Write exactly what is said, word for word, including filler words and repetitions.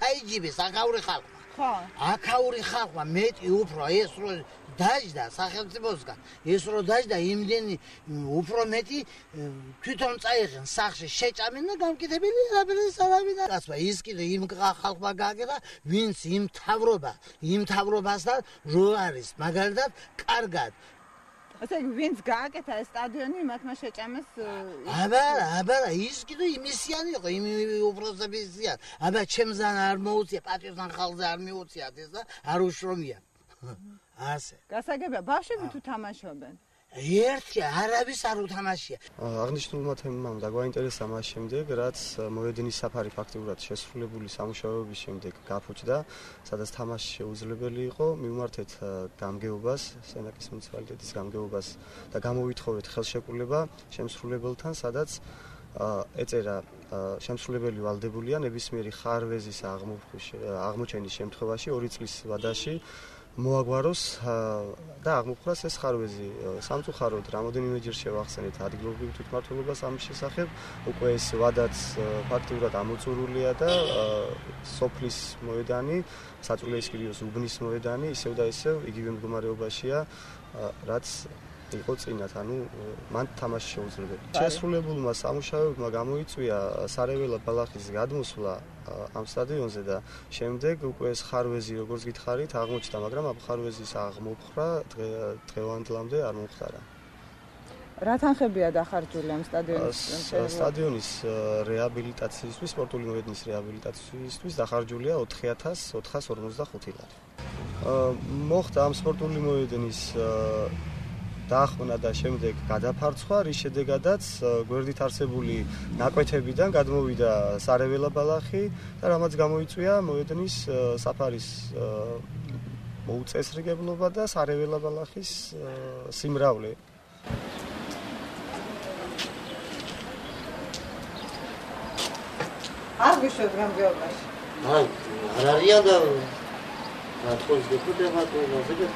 ჩაიჯიბეს აქაური ხალხმა. ხო. აქაური ხალხმა მეტი უფრო ეს რო დაждდა სახელმწიფოსგან, ეს რო დაждდა იმდენი უფრო მეტი თვითონ წაიღენ სახში შეჭამენ და გამკეთებელი არაფერი სარავინ არ ასვა. ის კიდე იმ ხალხმა გააკეთა, ვინც იმ თავრობა, იმ თავრობასთან რო არის მაგალითად კარგად. ასე ვინც გააკეთა ეს სტადიონი მათმა შეჭამეს აბა აბა ის კიდე იმისიანი იყო იმ უპროსებისიან აბა ჩემზან არ მოუწია პატრიოტთან ხალხზე არ მიუწიათ ეს და არ უშრომია ასე გასაგებია ბავშვები თუ თამაშობენ ერთი არავის არ უთამაშია აღნიშნულმა თემამ დაგვაინტერესა მას შემდეგ რაც მოედნის საფარი ფაქტიურად შესრულებული სამუშაოების შემდეგ გაფუჭდა სადაც თამაში შეუძლებელი იყო მივმართეთ გამგეობას სენაკის მუნიციპალიტეტის გამგეობას და გამოვითხოვეთ ხელშეკრულება შემსრულებელთან სადაც ეწერა შემსრულებელი ვალდებულია ნებისმიერი ხარვეზის აღმოჩენის შემთხვევაში ორი წლის ვადაში მოაგვაროს და აღმოფხვრას ეს ხარვეზი სამწუხაროდ რამოდენიმეჯერ შევახსენეთ ადგილობრივ თვითმმართველობას ამის შესახებ უკვე ეს ვადაც ფაქტიურად ამოწურულია და სოფლის მოედანი საწურლის კირიოს უბნის მოედანი ისევ და ისევ იგივე მდგომარეობაშია რაც იყო წინათ, ანუ მან თამაში შეუძლებელი. შესრულებულმა სამუშაოებმა გამოიწვია სარეველა ბალახის გადმოსვლა ამ სტადიონზე და შემდეგ უკვე ეს ხარვეზი როგორც გითხარით აღმოჩნდა, მაგრამ ამ ხარვეზის აღმოფხვრა დღევანდლამდე არ მომხდარა. რა თანხებია დახარჯული ამ სტადიონის სტადიონის რეაბილიტაციისთვის, სპორტული მოედნის რეაბილიტაციისთვის დახარჯულია ოთხი ათას ოთხას ორმოცდახუთი ლარი. მოხდა ამ სპორტული მოედნის დაახმნა და შემდეგ გადაფარცხვა, რის შედეგადაც გვერდით არსებული ნაკვეთებიდან გადმოვიდა სარეველა ბალახი და რამაც გამოიწვია მოედნის საფარის მოუწესრიგებლობა და სარეველა ბალახის სიმრავლე. არ გიშვებ გამგეობაში? არ არიან და რა თქოს გეკუთება თუ რა ზეგეთ